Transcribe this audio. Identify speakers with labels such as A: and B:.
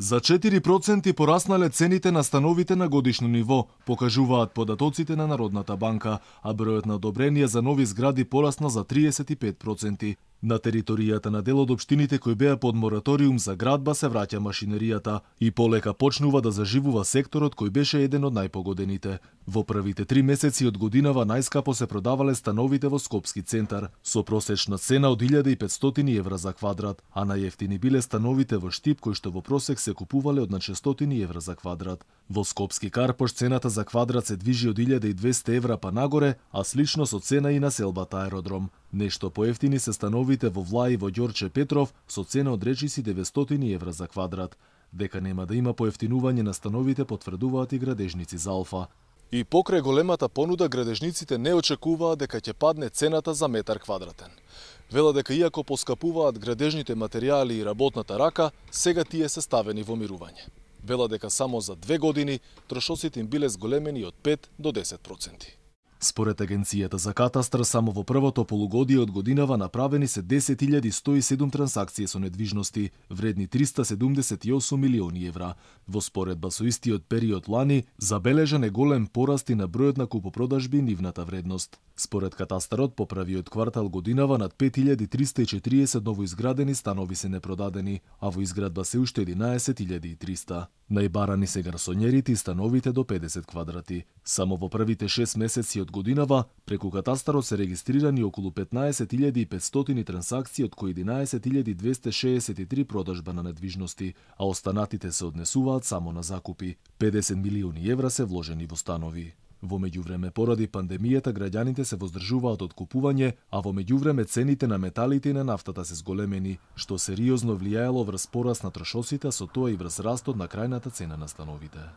A: За 4% пораснале цените на становите на годишно ниво, покажуваат податоците на Народната банка, а бројот на одобренија за нови згради порасна за 35%. На територијата на дел од општините кои беа под мораториум за градба се враќа машинеријата и полека почнува да заживува секторот кој беше еден од најпогодените. Во првите 3 месеци од годинава најскапо се продавале становите во Скопски центар, со просечна цена од 1500 евра за квадрат, а најевтини биле становите во Штип кои што во просек се купувале од на 600 евра за квадрат. Во Скопски Карпош цената за квадрат се движи од 1200 евра па нагоре, а слично со цена и на селбата Аеродром. Нешто поевтини се становите во Влај во Ѓорче Петров со цена од речиси 900 евра за квадрат. Дека нема да има поевтинување на становите потврдуваат и градежници за Алфа. И покрај големата понуда градежниците не очекуваат дека ќе падне цената за метар квадратен. Велат дека иако поскапуваат градежните материјали и работната рака, сега тие се ставени во мирување. Велат дека само за 2 години трошоците им биле зголемени од 5 до 10%. Според Агенцијата за катастар, само во првото полугодие од годинава направени се 10.107 трансакции со недвижности, вредни 378 милиони евра. Во споредба со истиот период лани, забележан е голем пораст и на бројот на купопродажби и нивната вредност. Според катастарот, по првиот квартал годинава над 5340 новоизградени станови се непродадени, а во изградба се уште 11.300. Најбарани се гарсонјерите и становите до 50 квадрати. Само во првите 6 месеци од годинава, преку катастарот се регистрирани околу 15.500 трансакции, од кои 11.263 продажба на недвижности, а останатите се однесуваат само на закупи. 50 милиони евра се вложени во станови. Во меѓувреме, поради пандемијата, граѓаните се воздржуваат од купување, а во меѓувреме цените на металите и на нафтата се зголемени, што сериозно влијаело врз пораст на трошоците, со тоа и врз растот на крајната цена на становите.